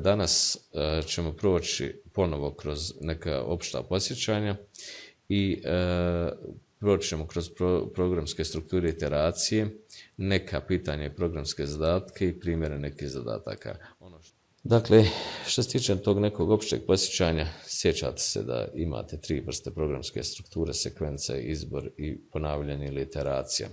Danas ćemo proći ponovo kroz neka opšta podsjećanja i proći ćemo kroz programske strukture iteracije, neka pitanja i programske zadatke i primjere nekih zadataka. Dakle, što se tiče tog nekog opšteg podsjećanja, sjećate se da imate 3 vrste programske strukture: sekvence, izbor i ponavljanje ili iteracija.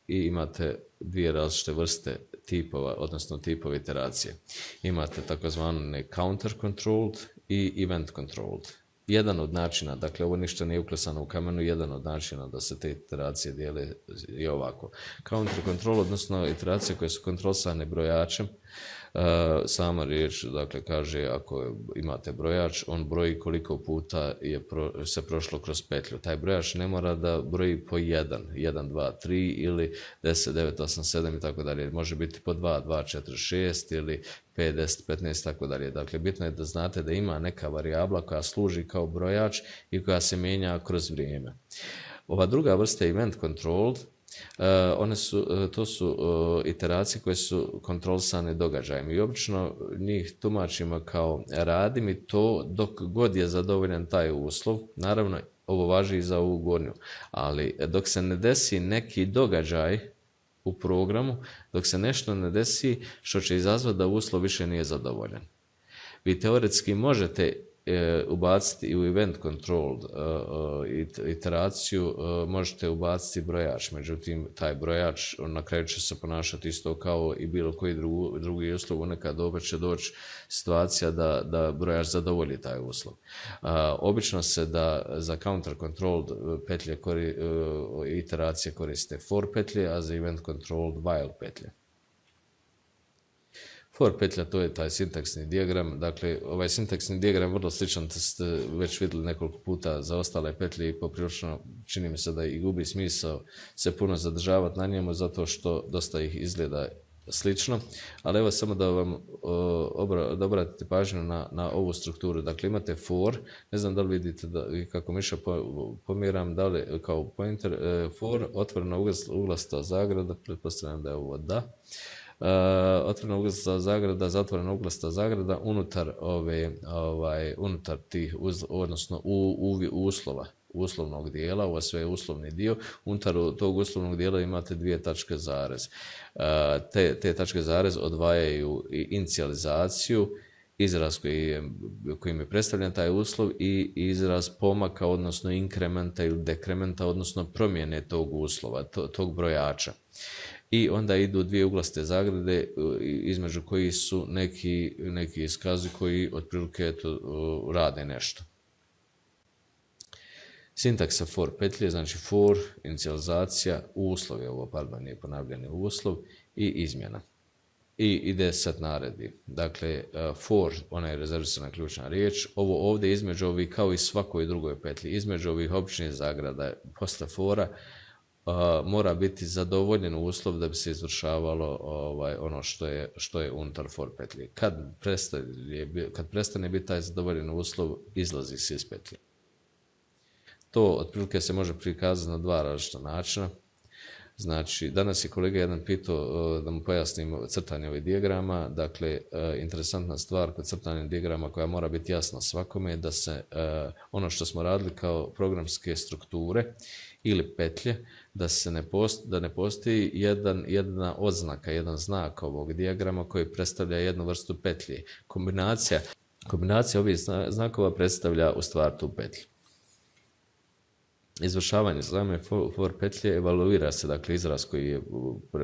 I imate 2 različite vrste tipova, odnosno tipova iteracije. Imate takozvani counter controlled i event controlled. Jedan od načina, dakle ovo ništa nije uklesano u kamenu, jedan od načina da se te iteracije dijele je ovako. Counter control, odnosno iteracije koje su kontrolisane brojačem, sama riječ, dakle, kaže ako imate brojač, on broji koliko puta se prošlo kroz petlju. Taj brojač ne mora da broji po 1, 1, 2, 3 ili 10, 9, 8, 7 i tako dalje. Može biti po 2, 2, 4, 6 ili 5, 10, 15 i tako dalje. Dakle, bitno je da znate da ima neka varijabla koja služi kao brojač i koja se mijenja kroz vrijeme. Ova druga vrsta event controlled, to su iteracije koje su kontrolisane događajem i obično njih tumačimo kao radi mi to dok god je zadovoljan taj uslov. Naravno, ovo važi i za ovu gornju, ali dok se ne desi neki događaj u programu, dok se nešto ne desi što će izazvati da uslov više nije zadovoljan. Vi teoretski možete ubaciti i u event controlled iteraciju, možete ubaciti brojač, međutim taj brojač na kraju će se ponašati isto kao i bilo koji drugi uslov, nekad opet će doći situacija da brojač zadovolji taj uslov. Obično se da za counter controlled petlje iteracije koriste for petlje, a za event controlled while petlje. For petlja, to je taj sintaksni dijagram. Dakle, ovaj sintaksni dijagram je vrlo sličan, ste već vidjeli nekoliko puta za ostale petlje i poprilično čini mi se da i gubi smisao se puno zadržavati na njemu zato što dosta ih izgleda slično. Ali evo samo da vam da obratite pažnju na ovu strukturu. Dakle, imate for, ne znam da li vidite kako miša pomjeram, da li kao pointer, for, otvorena uglasta zagrada, pretpostavljam da je ovo da. Otvorena uglasta zagrada, zatvorena uglasta zagrada unutar tih, odnosno uslovnog dijela, ovo sve je uslovni dio, unutar tog uslovnog dijela imate 2 tačke zarez. Te tačke zarez odvajaju inicijalizaciju, izraz kojim je predstavljen taj uslov i izraz pomaka, odnosno inkrementa ili dekrementa, odnosno promjene tog uslova, tog brojača. I onda idu 2 uglaste zagrade između kojih su neki iskazi koji otprilike rade nešto. Sintaksa for petlje, znači for, inicijalizacija, uslov je ovo, pardon, nije ponavljani uslov i izmjena. I ide set naredbi. Dakle, for, ona je rezervisana ključna riječ. Ovo ovdje između ovih, kao i svakoj drugoj petlji, između ovih običnih zagrada posle fora, mora biti zadovoljen uslov da bi se izvršavalo ono što je unutar for petlje. Kad prestane biti taj zadovoljen uslov, izlazi se iz petlje. To otprilike se može prikazati na 2 različita načina. Znači, danas je kolega jedan pitao da mu pojasnim crtanje ovih dijagrama. Dakle, interesantna stvar kod crtanja dijagrama koja mora biti jasna svakome je da se ono što smo radili kao programske strukture ili petlje, da ne postoji jedna oznaka, jedan znak ovog dijagrama koji predstavlja jednu vrstu petlje. Kombinacija ovih znakova predstavlja u stvar tu petlju. Izvršavanje same for petlje evaluira se, dakle, izraz koji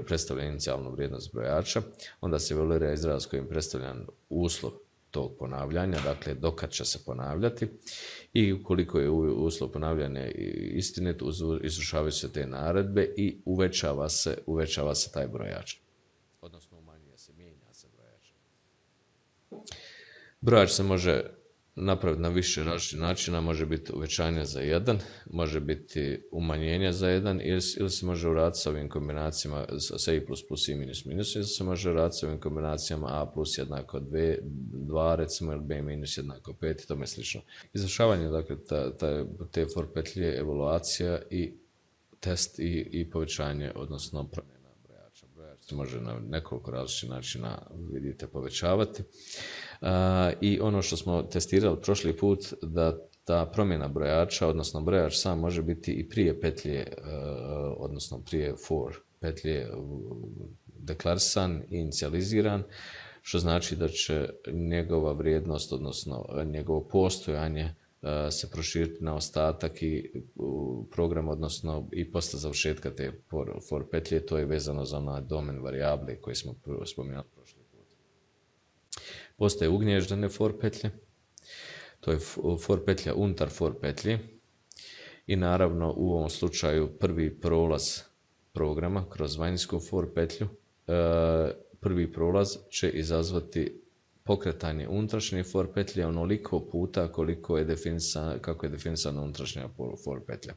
predstavlja inicijalnu vrijednost brojača, onda se evaluira izraz kojim je predstavljan uslov tog ponavljanja, dakle dokad će se ponavljati, i ukoliko je uslov ponavljanja istinit, izvršavaju se te naredbe i uvećava se taj brojač. Odnosno umanjuje se, mijenja se brojač. Brojač se može napraviti na više različitih načina, može biti uvećanje za 1, može biti umanjenje za 1 ili se može uraditi s ovim kombinacijama sa i plus plus i minus minus, ili se može uraditi s ovim kombinacijama a plus jednako 2 recimo, ili b minus jednako 5 i tome slično. Izvršavanje, dakle, te for petlje, evaluacija i test i povećanje, odnosno promjena brojača. Brojač se može na nekoliko različitih načina, vidite, povećavati. I ono što smo testirali prošli put, da ta promjena brojača, odnosno brojač sam može biti i prije petlje, odnosno prije for petlje deklarisan i inicijaliziran, što znači da će njegova vrijednost, odnosno njegovo postojanje se proširiti na ostatak i program, odnosno i posle završetka te for petlje. To je vezano za onaj domen varijable koji smo spominjali prošli put. Postoje ugnježdene for petlje, to je for petlja unutar for petlje i naravno u ovom slučaju prvi prolaz programa kroz vanjsku for petlju, prvi prolaz će izazvati pokretanje unutrašnje for petlje onoliko puta kako je definisana unutrašnja for petlja.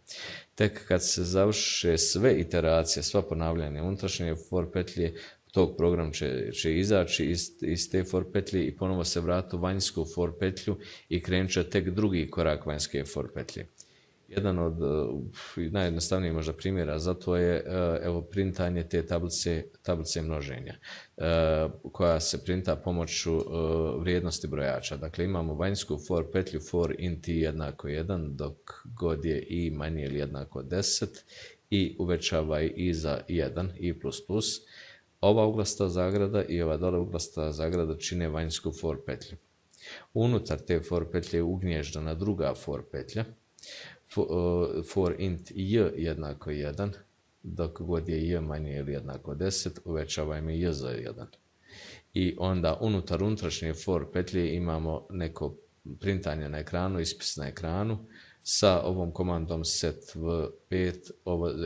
Tek kad se završe sve iteracije, sva ponavljanja unutrašnje for petlje, tog program će izaći iz te for petlje i ponovo se vrati u vanjsku for petlju i krenut će tek drugi korak vanjske for petlje. Jedan od najjednostavnijih možda primjera za to je printanje te tablice množenja koja se printa pomoću vrijednosti brojača. Dakle, imamo vanjsku for petlju for int i jednako 1, dok god je i manje ili jednako 10 i uvećava i za 1 i++. Ova uglasta zagrada i ova dole uglasta zagrada čine vanjsku for petlju. Unutar te for petlje je ugnježdana druga for petlja, for int j jednako 1, dok god je j manje ili jednako 10, uvećavajmo j za 1. I onda unutar unutrašnje for petlje imamo neko printanje na ekranu, ispis na ekranu, sa ovom komandom set v5,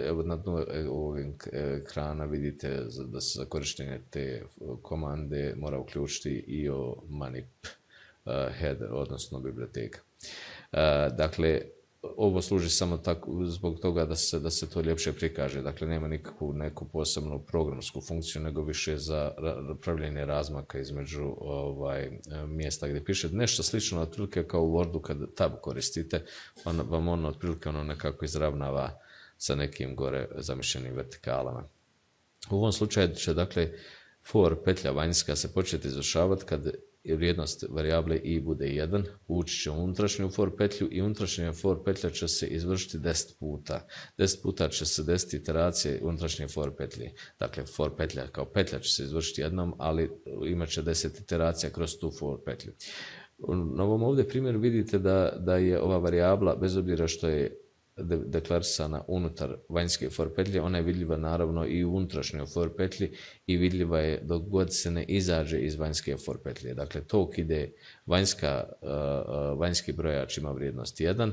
evo na dnu ovog ekrana vidite da se za korištenje te komande mora uključiti i manip header, odnosno biblioteka. Dakle, ovo služi samo tako, zbog toga da se to ljepše prikaže. Dakle, nema nikakvu neku posebnu programsku funkciju, nego više za pravljenje razmaka između mjesta gdje pišete. Nešto slično otprilike kao u Wordu kad tab koristite, vam ono otprilike nekako izravnava sa nekim gore zamišljenim vertikalama. U ovom slučaju će dakle for petlja vanjska se početi izvršavati kad vrijednost varijable i bude 1, ući će u unutrašnju for petlju i unutrašnja for petlja će se izvršiti 10 puta. 10 puta će se desiti iteracije unutrašnje for petlje. Dakle, for petlja kao petlja će se izvršiti jednom, ali imat će 10 iteracija kroz tu for petlju. Na ovom ovdje primjeru vidite da je ova varijabla, bez obzira što je deklarisana unutar vanjske for petlje, ona je vidljiva naravno i u unutrašnjoj for petlji i vidljiva je dok god se ne izađe iz vanjske for petlje. Dakle, tok ide vanjski brojač ima vrijednost 1,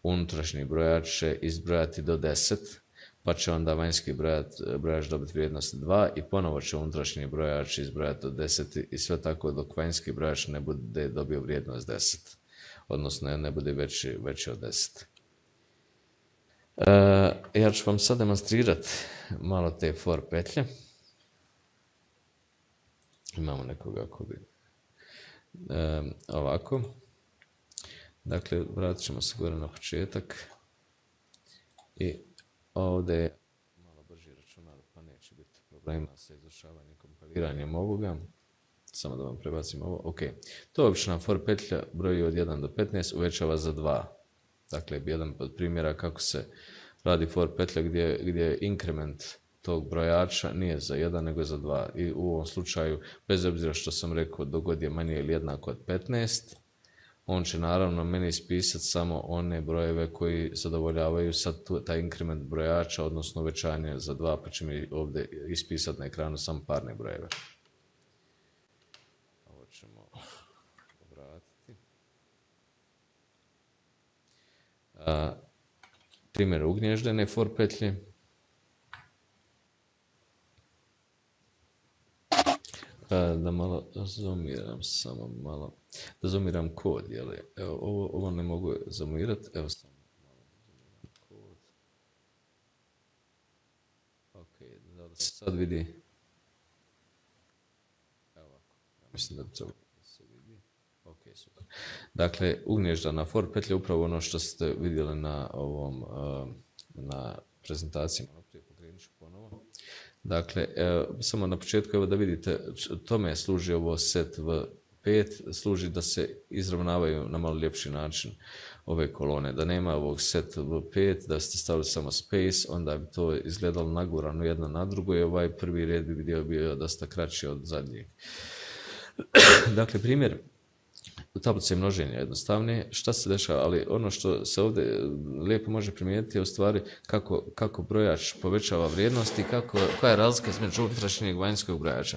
unutrašnji brojač će izbrojati do 10, pa će onda vanjski brojač dobiti vrijednost 2 i ponovo će unutrašnji brojač izbrojati do 10 i sve tako dok vanjski brojač ne bude dobio vrijednost 10, odnosno ne bude veći od 10. Ja ću vam sad demonstrirati malo te for petlje. Imamo nekoga ko bi ovako. Dakle, vratit ćemo se gore na početak. I ovdje je malo brži računar, pa neće biti problema sa izvršavanjem kompiliranjem ovoga. Samo da vam prebacim ovo. Ok. To je obična for petlja, broji od 1 do 15, uvećava za 2. Dakle, jedan od primjera kako se radi for petlja gdje inkrement tog brojača nije za 1 nego za 2. I u ovom slučaju, bez obzira što sam rekao dogod je manje ili jednako od 15, on će naravno meni ispisati samo one brojeve koji zadovoljavaju sad taj inkrement brojača, odnosno uvećanje za 2, pa će mi ovdje ispisati na ekranu samo parne brojeve. Ovo ćemo obratiti. Primjer ugnježdene for petlje. Da malo zoomiram, samo malo. Da zoomiram kod, jel? Evo, ovo ne mogu zoomirati. Evo samo malo zoomiram kod. Ok, da se sad vidi. Evo ovako. Ja mislim da bi trebalo da se vidi. Ok, super. Dakle, ugnježdana for petlja je upravo ono što ste vidjeli na ovom na prezentaciji. Malo prije pokrenut ću ponovo. Dakle, samo na početku evo da vidite, tome služi ovo set V5, služi da se izravnavaju na malo ljepši način ove kolone, da nema ovog set V5, da ste stavili samo space, onda bi to izgledalo nagurano jedno na drugo i ovaj prvi red bi bio dosta kraći od zadnjeg. Dakle, primjer tablice množenja jednostavne, šta se dešava, ali ono što se ovdje lijepo može primijetiti je u stvari kako brojač povećava vrijednost i koja je razlika između unutrašnjeg i vanjskog brojača.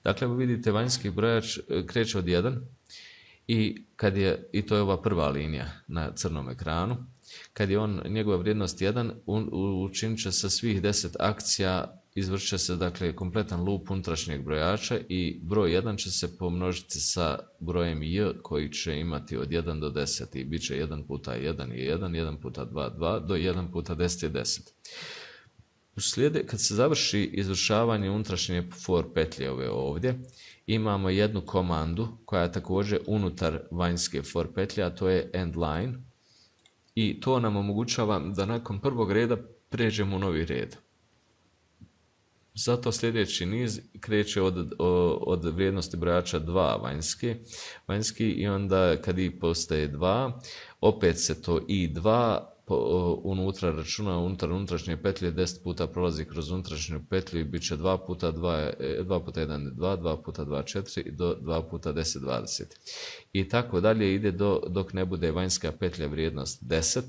Dakle, vidite, vanjski brojač kreće od 1 i to je ova prva linija na crnom ekranu. Kad je njegova vrijednost 1, učinit će se svih 10 akcija, izvršit će se dakle kompletan lup unutrašnjeg brojača i broj 1 će se pomnožiti sa brojem j koji će imati od 1 do 10 i bit će 1 puta 1 je 1, 1 puta 2 2, do 1 puta 10 je 10. Kad se završi izvršavanje unutrašnje for petlje ove ovdje, imamo jednu komandu koja je također unutar vanjske for petlje, a to je end line. I to nam omogućava da nakon prvog reda pređemo u novi red. Zato sljedeći niz kreće od vrijednosti brojača 2 vanjski i onda kad i postaje 2, opet se to i2 unutra računa unutrašnje petlje 10 puta prolazi kroz unutrašnju petlju i bit će 2 puta 2 puta 1 je 2, 2 puta 2 4 i do 2 puta 10 20. I tako dalje ide dok ne bude vanjska petlja vrijednost 10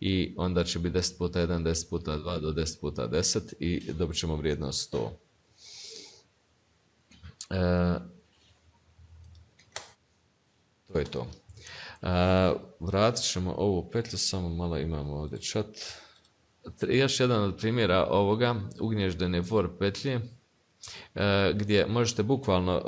i onda će biti 10 puta 1, 10 puta 2 do 10 puta 10 i dobit ćemo vrijednost 100. To je to. Vratit ćemo ovu petlju, samo malo imamo ovdje chat. Još jedan od primjera ovoga, ugnježdene for petlje, gdje možete bukvalno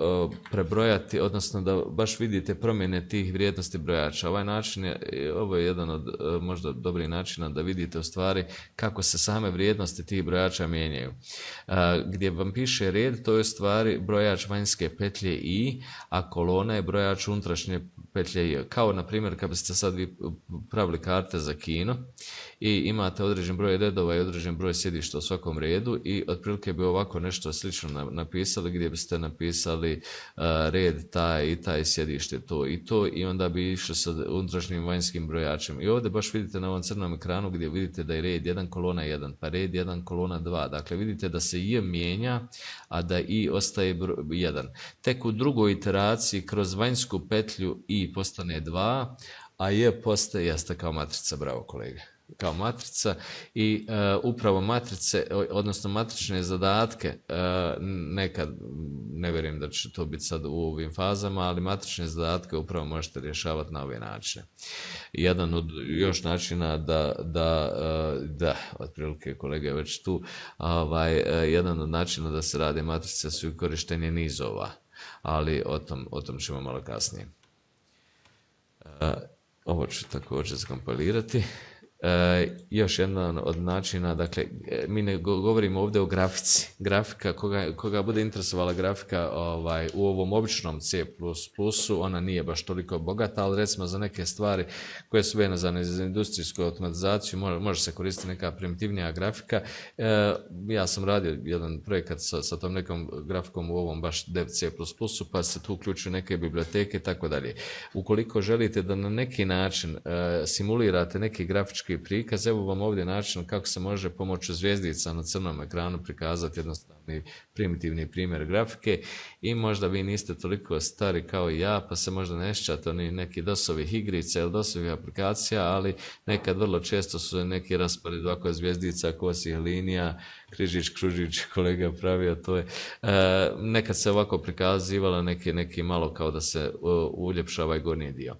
prebrojati, odnosno da baš vidite promjene tih vrijednosti brojača. Ovaj način ovo je jedan od možda dobrih načina da vidite u stvari kako se same vrijednosti tih brojača mijenjaju. Gdje vam piše red, to je u stvari brojač vanjske petlje i, a kolona je brojač unutrašnje petlje i. Kao na primjer kad biste sad vi pravili karte za kino i imate određen broj redova i određen broj sjedišta u svakom redu i otprilike bi ovako nešto slično napisali gdje biste napisali red taj i taj, sjedište to i to i onda bi išli sa unutrašnjim vanjskim brojačem. I ovdje baš vidite na ovom crnom ekranu gdje vidite da je red 1 kolona 1, pa red 1 kolona 2. Dakle vidite da se j mijenja, a da i ostaje 1. Tek u drugoj iteraciji kroz vanjsku petlju i postane 2, a j postaje, jeste kao matrica, bravo kolege, kao matrica i upravo matrice, odnosno matrične zadatke, nekad, ne vjerujem da će to biti sad u ovim fazama, ali matrične zadatke upravo možete rješavati na ove načine. Jedan od još načina da otprilike kolega je već tu, jedan od načina da se rade matrice su korištenje nizova, ali o tom ćemo malo kasnije. Ovo ću također skompilirati. Još jedan od načina, dakle, mi ne govorimo ovdje o grafici. Grafika, koga bude interesovala grafika u ovom običnom C++, ona nije baš toliko bogata, ali recimo za neke stvari koje su vezane za industrijsku automatizaciju može se koristiti neka primitivnija grafika. Ja sam radio jedan projekat sa tom nekom grafikom u ovom baš dev C++, pa se tu uključuju neke biblioteke i tako dalje. Ukoliko želite da na neki način simulirate neki grafički prikaz, evo vam ovdje način kako se može pomoću zvjezdica na crnom ekranu prikazati jednostavni primitivni primjer grafike i možda vi niste toliko stari kao i ja, pa se možda ne sjećate ni neki DOS-ovih igrica ili DOS-ovih aplikacija, ali nekad vrlo često su neki raspored ovako zvjezdica, kosih linija, križić, kružić, kolega pravio, to je. Nekad se ovako prikazivalo neki malo kao da se uljepša ovaj gornji dio.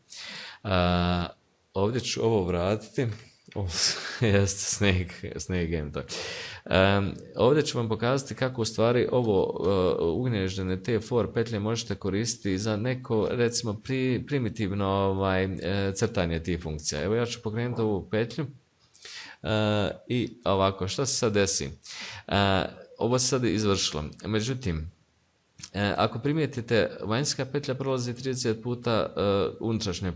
Ovdje ću ovo vratiti. Jeste Snake Game Talk. Ovdje ću vam pokazati kako u stvari ovo ugnježdene te for petlje možete koristiti za neko recimo primitivno crtanje tih funkcija. Evo ja ću pokrenuti ovu petlju i ovako, što se sad desi? Ovo se sad izvršilo, međutim ako primijetite, vanjska petlja prolazi 30 puta, unutrašnja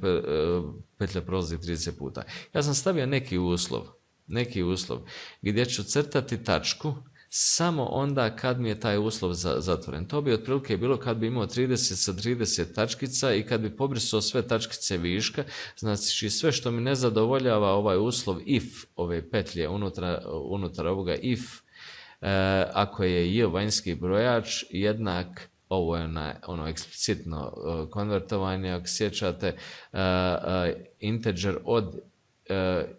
petlja prolazi 30 puta. Ja sam stavio neki uslov gdje ću crtati tačku samo onda kad mi je taj uslov zatvoren. To bi otprilike bilo kad bi imao 30 sa 30 tačkica i kad bi pobrisao sve tačkice viška, znači sve što mi ne zadovoljava ovaj uslov if, ove petlje unutar ovoga if, ako je j vanjski brojač jednak, ovo je ono eksplicitno konvertovanje, ako sjećate, integer od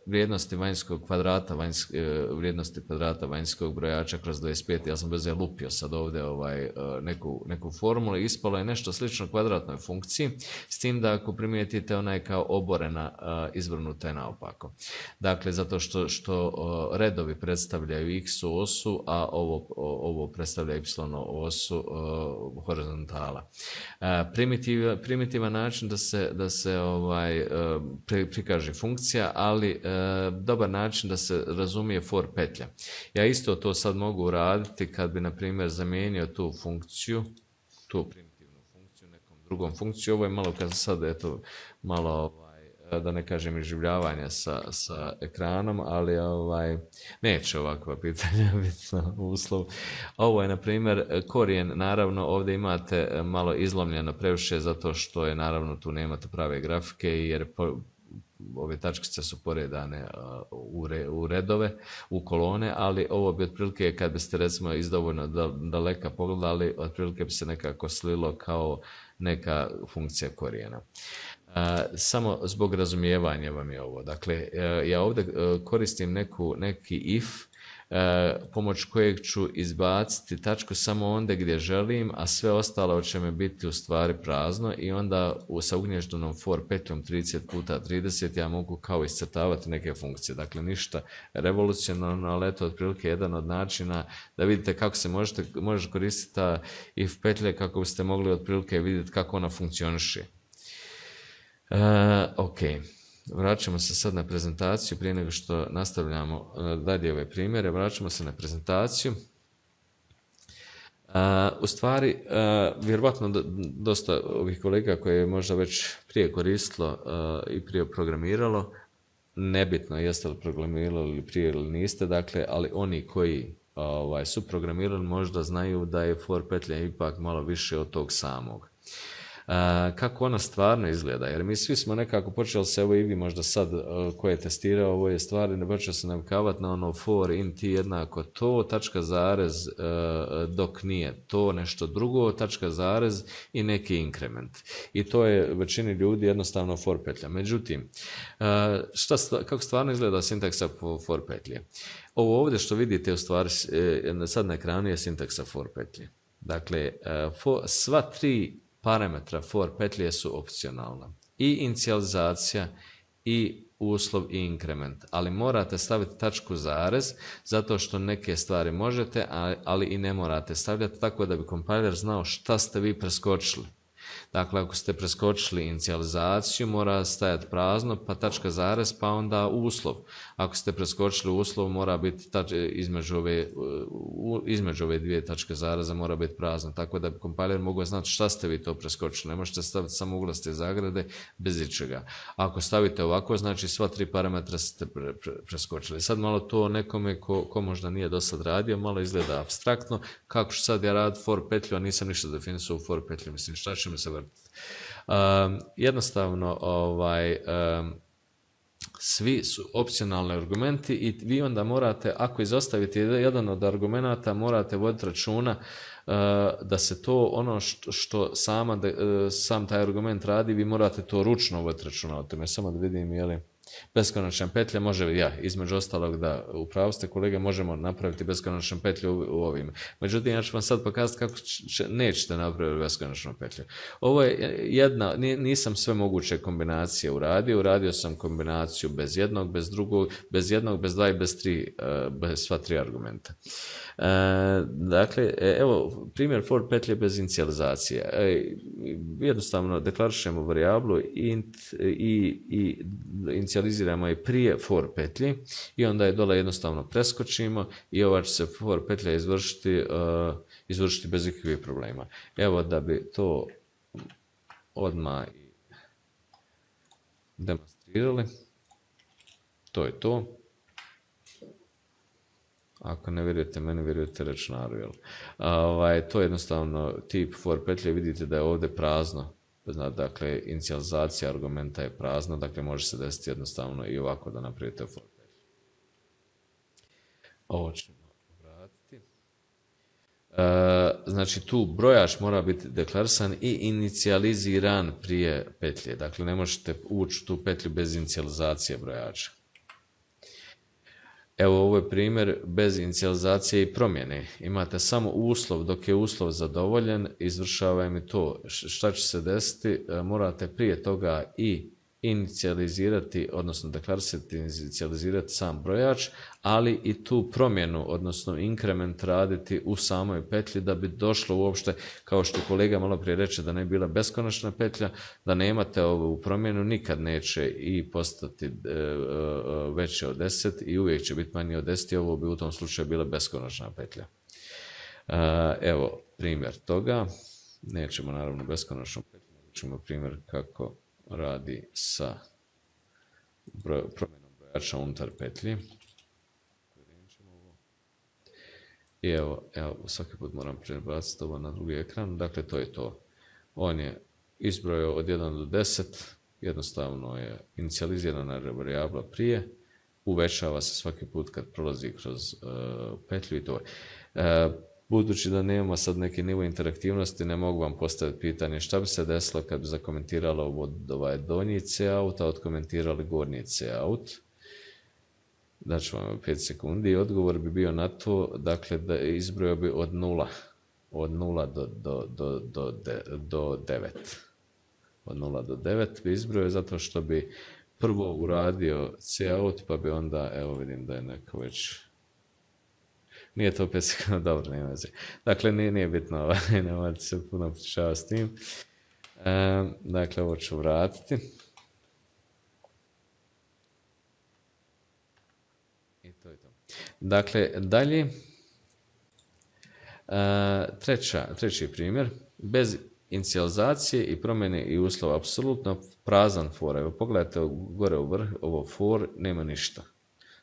vrijednosti vanjskog kvadrata, vrijednosti kvadrata vanjskog brojača kroz 25, ja sam bez je lupio sad ovdje neku formulu, ispalo je nešto slično kvadratnoj funkciji, s tim da ako primijetite ona je kao oborena, izvrnuta je naopako. Dakle, zato što redovi predstavljaju x osu, a ovo predstavlja y osu horizontala. Primitivan način da se prikaže funkcija, ali dobar način da se razumije for petlja. Ja isto to sad mogu uraditi kad bi, na primjer, zamijenio tu funkciju, tu primitivnu funkciju, nekom drugom funkciju. Ovo je malo kad sad, eto, malo, da ne kažem, iživljavanja sa ekranom, ali neće ovakva pitanja biti uslov. Ovo je, na primjer, korijen, naravno, ovdje imate malo izlomljeno previše, zato što je, naravno, tu nemate prave grafike, jer ove tačkice su poredane u redove, u kolone, ali ovo bi otprilike, kad biste recimo iz dovoljno daleka pogledali, otprilike bi se nekako slilo kao neka funkcija korijena. Samo zbog razumijevanja vam je ovo. Dakle, ja ovdje koristim neki if, pomoć kojeg ću izbaciti tačku samo onda gdje želim, a sve ostalo će mi biti u stvari prazno, i onda sa ugnještenom for petljom 30 puta 30 ja mogu kao iscrtavati neke funkcije. Dakle, ništa revolucionarno, ali eto otprilike jedan od načina da vidite kako se može koristiti ta if petlje, kako biste mogli otprilike vidjeti kako ona funkcioniše. Ok. Vraćamo se sad na prezentaciju prije nego što nastavljamo dalje ove primjere. Vraćamo se na prezentaciju. U stvari, vjerovatno dosta ovih kolega koje je možda već prije koristilo i prije programiralo, nebitno jeste li programirali ili prije ili niste, dakle, ali oni koji su programirali možda znaju da je for petlja ipak malo više od tog samog. Kako ona stvarno izgleda, jer mi svi smo nekako počeli se, evo i vi možda sad ko je testirao ove stvari, ne počeo se navikavati na ono for int jednako to, tačka zarez, dok nije to nešto drugo, tačka zarez i neki inkrement. I to je većini ljudi jednostavno for petlja. Međutim, kako stvarno izgleda sintaksa for petlje? Ovo ovdje što vidite u stvari sad na ekranu je sintaksa for petlje. Dakle, sva tri parametra for petlje su opcionalna. I inicijalizacija, i uslov, i inkrement. Ali morate staviti tačku zarez, zato što neke stvari možete, ali i ne morate stavljati, tako da bi kompiler znao šta ste vi preskočili. Dakle, ako ste preskočili inicijalizaciju, mora stajati prazno, pa tačka zarez, pa onda uslov. Ako ste preskočili uslov, mora biti između ove dvije tačke zareza mora biti prazno, tako da bi kompiler mogao znati šta ste vi to preskočili. Ne možete staviti samo uglaste zagrade bez ičega. Ako stavite ovako, znači sva tri parametra ste preskočili. Sad malo to nekome ko možda nije do sad radio, malo izgleda apstraktno. Kako ću sad ja raditi for petlju, a nisam ništa definisao u for petlju, mislim šta će mi se vrtiti. Jednostavno, svi su opcionalni argumenti i vi onda morate, ako izostavite jedan od argumenata, morate voditi računa da se to ono što sam taj argument radi, vi morate to ručno voditi računa o tome. Samo da vidim je li beskonačna petlja može, između ostalog da upravo ste kolege, možemo napraviti beskonačnu petlju u ovim. Međutim, ja ću vam sad pokazati kako nećete napraviti beskonačnu petlju. Ovo je jedna, nisam sve moguće kombinacije uradio sam kombinaciju bez jednog, bez drugog, bez jednog, bez dva i bez tri, bez sva tri argumenta. Dakle, evo primjer for petlje bez inicijalizacije. Jednostavno deklarišemo varijablu int i inicijaliziramo je prije for petlji i onda je dole jednostavno preskočimo i ova će se for petlja izvršiti bez ikakvih problema. Evo da bi to odmah demonstrirali. To je to. Ako ne vjerujete meni, vjerujete računaru. Jel? To je jednostavno tip for petlje. Vidite da je ovdje prazno. Dakle, inicijalizacija argumenta je prazna. Dakle, može se desiti jednostavno i ovako da napravite for petlju. Ovo ćemo vratiti. Znači, tu brojač mora biti deklarisan i inicijaliziran prije petlje. Dakle, ne možete ući u tu petlju bez inicijalizacije brojača. Evo, ovo je primjer bez inicijalizacije i promjene. Imate samo uslov, dok je uslov zadovoljen, izvršava mi to. Šta će se desiti? Morate prije toga i inicijalizirati, odnosno deklarisati, inicijalizirati sam brojač, ali i tu promjenu, odnosno inkrement raditi u samoj petlji da bi došlo uopšte, kao što kolega malo prije reče, da ne bi bila beskonačna petlja, da nemate ovu promjenu, nikad neće i postati veće od 10 i uvijek će biti manje od 10 i ovo bi u tom slučaju bila beskonačna petlja. Evo primjer toga, nećemo naravno beskonačnu petlju, ćemo primjer kako radi sa promjenom brojača unutar petlji. I evo, svaki put moram prebaciti ovo na drugi ekran. Dakle, to je to. On je izbrojao od 1 do 10, jednostavno je inicijalizirana varijabla prije, uvećava se svaki put kad prolazi kroz petlju i to je. Budući da nemamo sad neki nivo interaktivnosti, ne mogu vam postaviti pitanje šta bi se desilo kad bi zakomentiralo ovaj donji cout, a odkomentirali gornji cout. Daću vam 5 sekundi i odgovor bi bio na to, dakle, da izbrojao bi od 0 do 9. Od 0 do 9 bi izbrojao zato što bi prvo uradio cout, pa bi onda, evo vidim da je neko već... Nije to 5 sekundi, dobro, nema veze. Dakle, nije bitno, nemojte se puno potišavati s tim. Dakle, ovo ću vratiti. I to je to. Dakle, dalje. Treći primjer. Bez inicijalizacije i promjene i uslova, apsolutno prazan for. Evo, pogledajte gore u vrh, ovo for, nema ništa.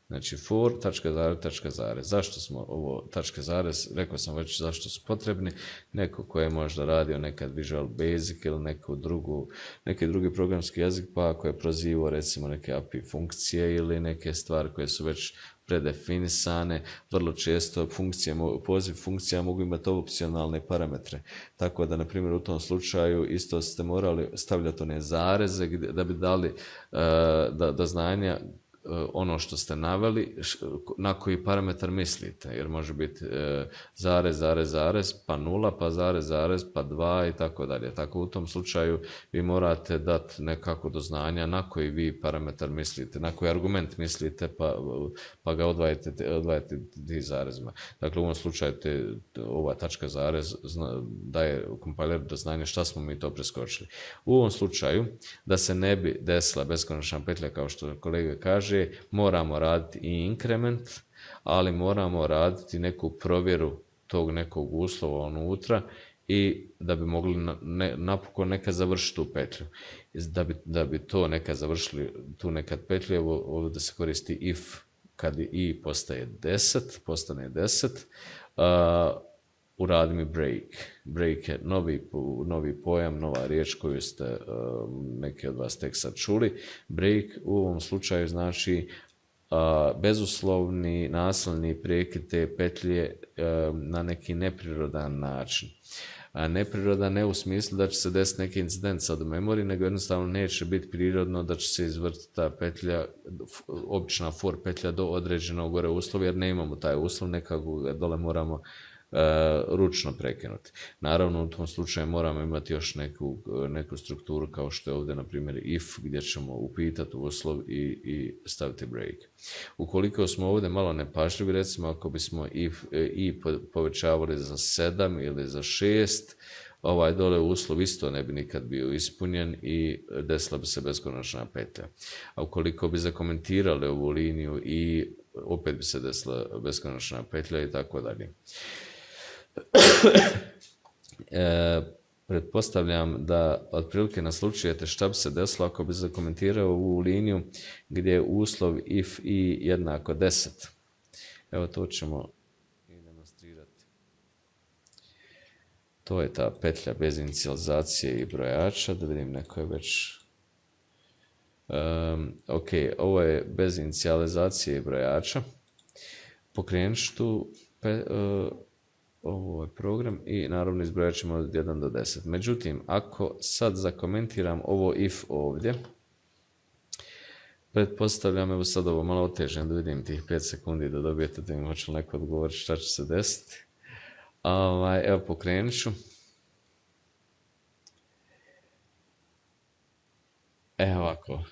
Znači for, tačka zarez, tačka zarez. Zašto smo ovo tačka zarez? Rekao sam već zašto su potrebni. Neko ko je možda radio nekad Visual Basic ili neki drugi programski jezik, pa ako je prozivao recimo neke API funkcije ili neke stvari koje su već predefinisane, vrlo često poziv funkcija mogu imati opcionalne parametre. Tako da, na primjer, u tom slučaju isto ste morali stavljati one zareze da bi dali do znanja ono što ste naveli, na koji parametar mislite, jer može biti zarez, pa 0, pa zarez, pa 2 i tako dalje. Tako u tom slučaju vi morate dati nekako do znanja na koji vi parametar mislite, na koji argument mislite, pa ga odvajate ti zarezima. Dakle, u ovom slučaju ova tačka zarez daje kompiler do znanja šta smo mi to preskočili. U ovom slučaju, da se ne bi desila beskonačna petlja, kao što kolega kaže, moramo raditi i inkrement, ali moramo raditi neku provjeru tog nekog uslova unutra i da bi mogli napokon nekad završiti tu petlju. Da bi to nekad završili, tu nekad petlju, ovdje se koristi if, kad i postane 10, uradi mi break. Break je novi pojam, nova riječ koju ste neki od vas tek sad čuli. Break u ovom slučaju znači bezuslovni nasilni prekid te petlje na neki neprirodan način. Neprirodan ne u smislu da će se desiti neki incident sad u memoriji, nego jednostavno neće biti prirodno da će se izvrtiti ta petlja, obična for petlja do određenog gore uslova, jer ne imamo taj uslov, nekako ga dole moramo ručno prekinuti. Naravno, u tom slučaju moramo imati još neku strukturu kao što je ovdje, na primjer, if, gdje ćemo upitati uslov i staviti break. Ukoliko smo ovdje malo nepažljivi, recimo ako bismo i povećavali za 7 ili za 6, ovaj dole uslov isto ne bi nikad bio ispunjen i desila bi se beskonačna petlja. A ukoliko bi zakomentirali ovu liniju i opet bi se desila beskonačna petlja i tako dalje. Pretpostavljam da otprilike naslučujete šta bi se desilo ako bi zakomentirao ovu liniju gdje je uslov if i jednako 10. Evo to ćemo i demonstrirati. To je ta petlja bez inicijalizacije i brojača, da vidim neko je već... ok, ovo je bez inicijalizacije i brojača. Pokrenut ću tu ovo je program i naravno izbrojat ćemo od 1 do 10. Međutim, ako sad zakomentiram ovo if ovdje, pretpostavljam, evo sad ovo malo otežem da vidim tih 5 sekundi da dobijete da im hoće li neko odgovoriti šta će se desiti. Evo pokrenut ću. Evo ovako,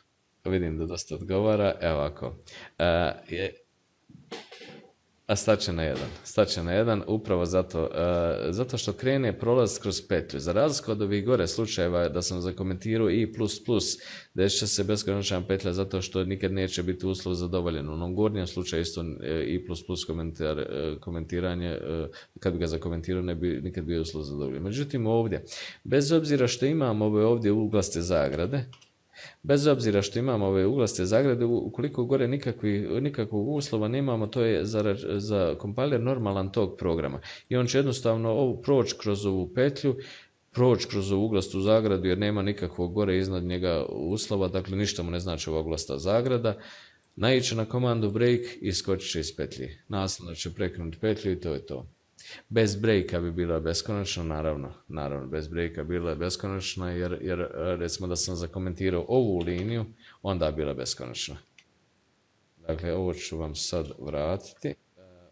vidim da dosta odgovara, evo ovako. A staće na 1, upravo zato što krene prolaz kroz petlju. Za razliku od ovih gore slučajeva da sam zakomentirao i++, desit će se beskonačna petlja zato što nikad neće biti uslov zadovoljen. U onom gornjem slučaju isto i++ komentiranje, kad bi ga zakomentirao ne bi nikad bio uslov zadovoljen. Međutim ovdje, bez obzira što imam ove ovdje uglaste zagrade, ukoliko gore nikakvog uslova nemamo, to je za kompiler normalan tog programa. I on će jednostavno proći kroz ovu petlju, proći kroz ovu uglastu zagradu jer nema nikakvog gore iznad njega uslova, dakle ništa mu ne znači ova uglasta zagrada. Naići na komandu break i skočit će iz petlji. Nasljedno će prekinuti petlju i to je to. Bez breaka bi bila beskonačna, naravno bez breaka bila je beskonačna jer recimo da sam zakomentirao ovu liniju, onda bi bila beskonačna. Dakle, ovo ću vam sad vratiti.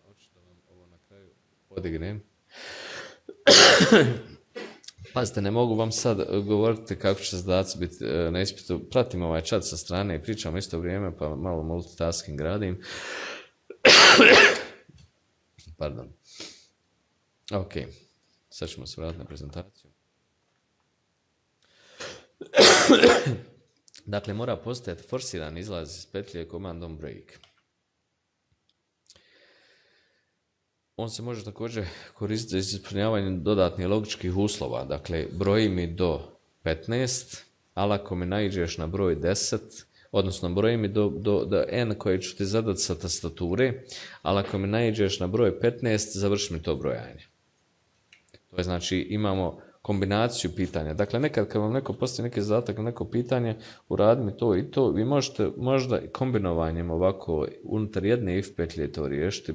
Hoću da vam ovo na kraju podignem. Pazite, ne mogu vam sad govoriti kako će zadaci biti na ispitu. Pratim ovaj chat sa strane i pričam isto vrijeme, pa malo multitasking radim. Pardon. Ok, sad ćemo se vratiti na prezentaciju. Dakle, mora postojati forsiran izlaz iz petlje komandom break. On se može također koristiti za ispunjavanje dodatnih logičkih uslova. Dakle, broji mi do 15, ali ako mi naiđeš na broj 10, odnosno broji mi do n koje ću ti zadati sa tastature, ali ako mi naiđeš na broj 15, završi mi to brojanje. To je znači imamo kombinaciju pitanja. Dakle, nekad kad vam neko postavi neki zadatak na neko pitanje, uradi mi to i to, vi možete možda kombinovanjem ovako unutar jedne if petlje to riješiti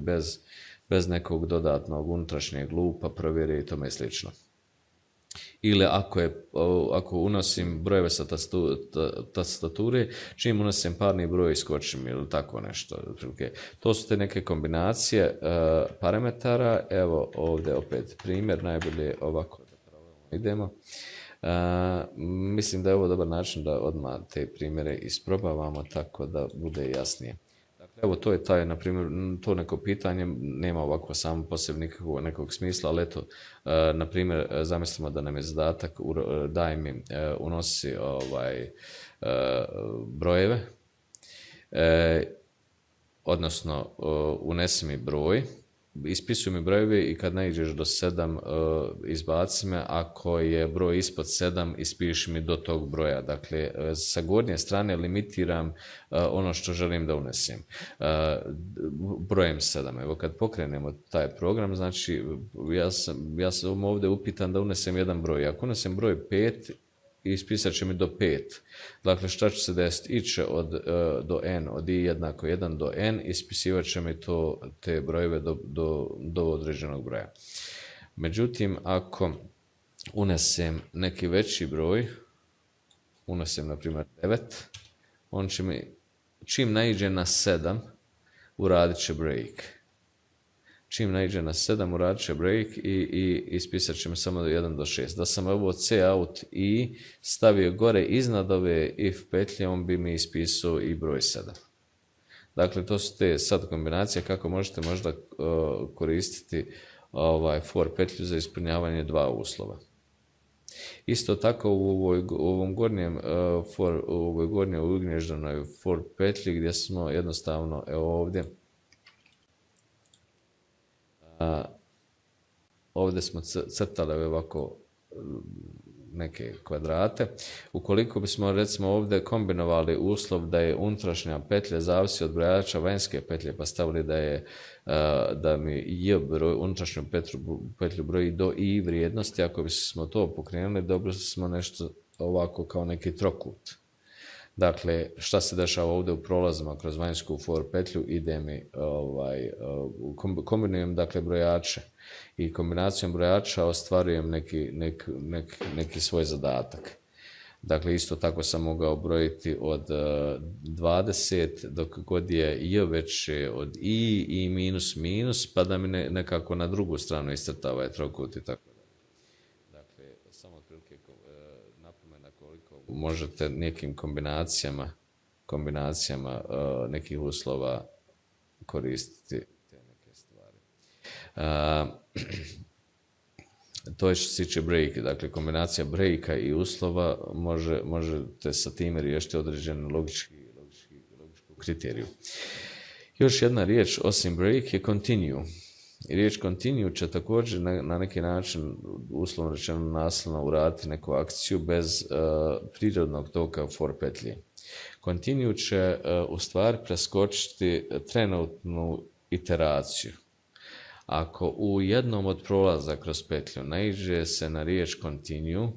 bez nekog dodatnog unutrašnjeg lupa, provjere i tome slično. Ili ako unosim brojeve sa tastature, čim unosim parni broj iskočim ili tako nešto. To su te neke kombinacije parametara. Evo ovdje opet primjer, najbolje ovako da idemo. Mislim da je ovo dobar način da odmah te primjere isprobavamo tako da bude jasnije. Evo to je taj, na primjer, to neko pitanje nema ovako samo po sebi nekog smisla, ali eto, na primjer, zamislimo da nam je zadatak, daj mi, unosi brojeve, odnosno unesi mi broj, ispisuj mi brojeve i kad naiđeš do 7 izbaci me, ako je broj ispod 7 ispiši mi do tog broja. Dakle, sa gornje strane limitiram ono što želim da unesem. Brojem 7. Evo kad pokrenemo taj program, znači ja sam ovdje upitan da unesem jedan broj. Ako unesem broj 5, ispisat će mi do 5. Dakle, šta će se desiti? Iće do n, od i jednako 1 do n, ispisivat će mi te brojeve do određenog broja. Međutim, ako unesem neki veći broj, unesem na primjer 9, on će mi, čim naiđe na 7, uradit će break. Čim naiđe na 7, uradit će break i ispisat će mi samo do 1 do 6. Da sam ovo cout i stavio gore iznad ove if petlje, on bi mi ispisao i broj 7. Dakle, to su te sad kombinacije kako možete možda koristiti for petlju za ispunjavanje dva uslova. Isto tako u ovom gornjem u ovoj gornjoj ugnježdanoj for petlji gdje smo jednostavno ovdje ovdje smo crtali ovako neke kvadrate. Ukoliko bismo recimo ovdje kombinovali uslov da je unutrašnja petlja zavisi od brojača vanjske petlje, pa stavili da mi j broj, unutrašnju petlju broji do i vrijednosti, ako bismo to pokrenuli, dobili smo nešto ovako kao neki trokut. Dakle, šta se dešava ovdje u prolazima kroz vanjsku for petlju, ide mi, kombinujem dakle brojače i kombinacijom brojača ostvarujem neki svoj zadatak. Dakle, isto tako sam mogao brojiti od 20 dok god je j veće od i minus minus, pa da mi nekako na drugu stranu iscrta ovaj trokut i tako. Dakle, samo otprilike napomena koliko možete nekim kombinacijama nekih uslova koristiti te neke stvari. To je što se tiče break, dakle kombinacija breaka i uslova možete sa time riješiti određenu logičku kriteriju. Još jedna riječ osim break je continue. I riječ continue će također na neki način, uslovno rečeno nasilno, uraditi neku akciju bez prirodnog toka for petlje. Continue će u stvari preskočiti trenutnu iteraciju. Ako u jednom od prolaza kroz petlju naiđe se na riječ continue,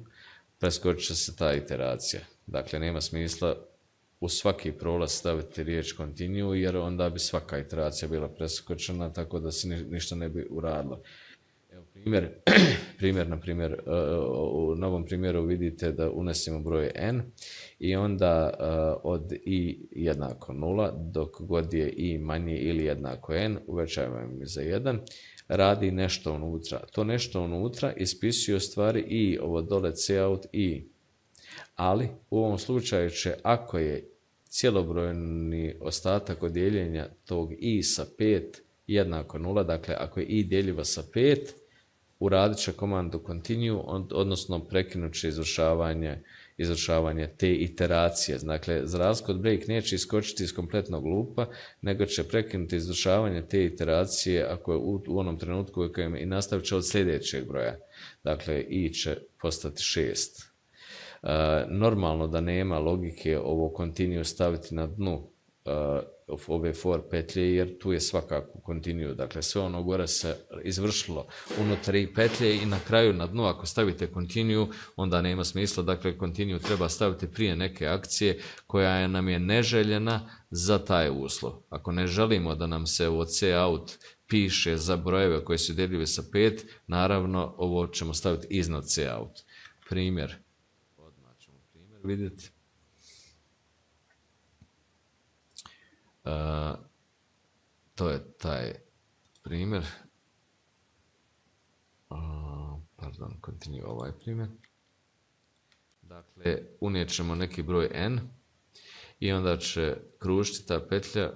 preskočit će se ta iteracija. Dakle, nema smisla u svaki prolaz staviti riječ continue, jer onda bi svaka iteracija bila preskočena, tako da se ništa ne bi uradilo. Evo primjer, u novom primjeru vidite da unesemo broj n i onda od i jednako 0, dok god je i manje ili jednako n, uvećavamo za 1, radi nešto unutra. To nešto unutra ispisuje u stvari i ovo dole cout i, ali u ovom slučaju će, ako je cjelobrojni ostatak od dijeljenja tog i sa 5 jednako 0, dakle ako je i djeljiva sa 5, uradit će komandu continue, odnosno prekinut će izvršavanje te iteracije. Dakle, za razliku od break neće iskočiti iz kompletnog lupa, nego će prekinuti izvršavanje te iteracije ako je u onom trenutku u kojem i nastavit će od sljedećeg broja. Dakle, i će postati 6. Normalno da nema logike ovo continue staviti na dnu ove for petlje, jer tu je svakako continue. Dakle, sve ono gore se izvršilo unutar i petlje i na kraju na dnu ako stavite continue, onda nema smisla. Dakle, continue treba staviti prije neke akcije koja nam je neželjena za taj uslov. Ako ne želimo da nam se u cout piše za brojeve koji su djeljivi sa 5, naravno ovo ćemo staviti iznad cout. Primjer. Odmah ćemo primjer vidjeti. To je taj primjer. Continue ovaj primjer. Dakle, unijet ćemo neki broj n i onda će kružiti ta petlja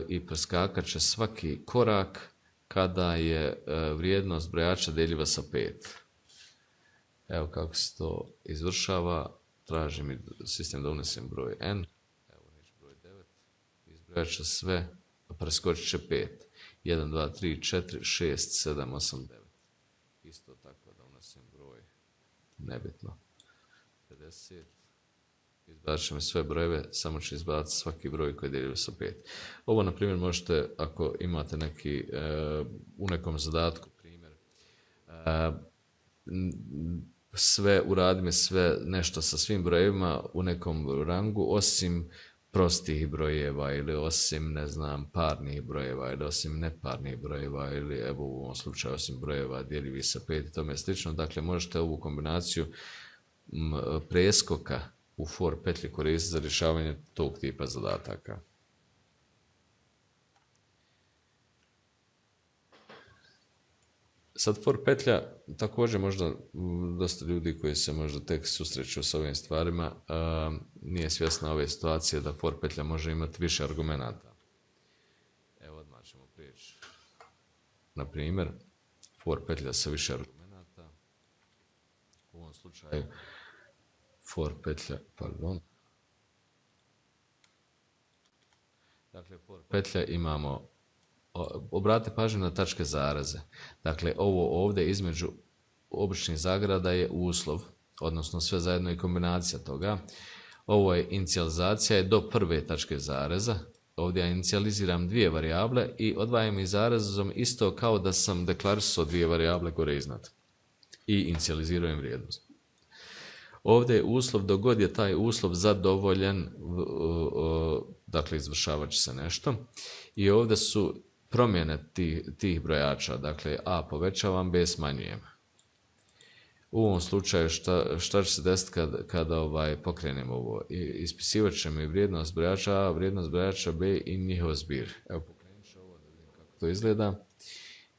i preskakat će svaki korak kada je vrijednost brojača deljiva sa 5. Evo kako se to izvršava. Traži mi sistem da unesem broj n. Evo unijet ću broj 9. Izbrojat će sve, preskočit će 5. 1, 2, 3, 4, 6, 7, 8, 9. Isto tako da unesem broj, nebitno, 50. Izbacit ćemo sve brojeve, samo će izbaciti svaki broj koji je deljiv sa 5. Ovo, na primjer, možete, ako imate neki, u nekom zadatku primjer, uradimo sve nešto sa svim brojevima u nekom rangu, osim prostih brojeva ili osim, ne znam, parnih brojeva ili osim neparnih brojeva ili evo u ovom slučaju osim brojeva djeljivih sa 5 i tome slično. Dakle, možete ovu kombinaciju preskoka u for petlji koristiti za rješavanje tog tipa zadataka. Sad for petlja, također možda dosta ljudi koji se možda tek susreću s ovim stvarima nije svjesna ove situacije da for petlja može imati više argumenata. Evo odmah ćemo prijeći. Na primjer, for petlja sa više argumenata. U ovom slučaju for petlja, Dakle, for petlja imamo, obratite pažnju na tačke zareze. Dakle, ovo ovdje između običnih zagrada je uslov. odnosno sve zajedno i kombinacija toga. Ovo je inicijalizacija je do prve tačke zareza. Ovdje ja inicijaliziram dvije varijable i odvajam ih zarezom isto kao da sam deklarisao dvije varijable gore iznad. I inicijaliziram vrijednost. Ovdje je uslov, dok god je taj uslov zadovoljen, dakle izvršavat će se nešto. I ovdje su promjene tih brojača, dakle a povećavam, b smanjujem. U ovom slučaju šta će se desiti kada pokrenemo ovo? Ispisivat će mi vrijednost brojača a, vrijednost brojača b i njihov zbir. Evo pokrenut ću ovo da vidim kako to izgleda.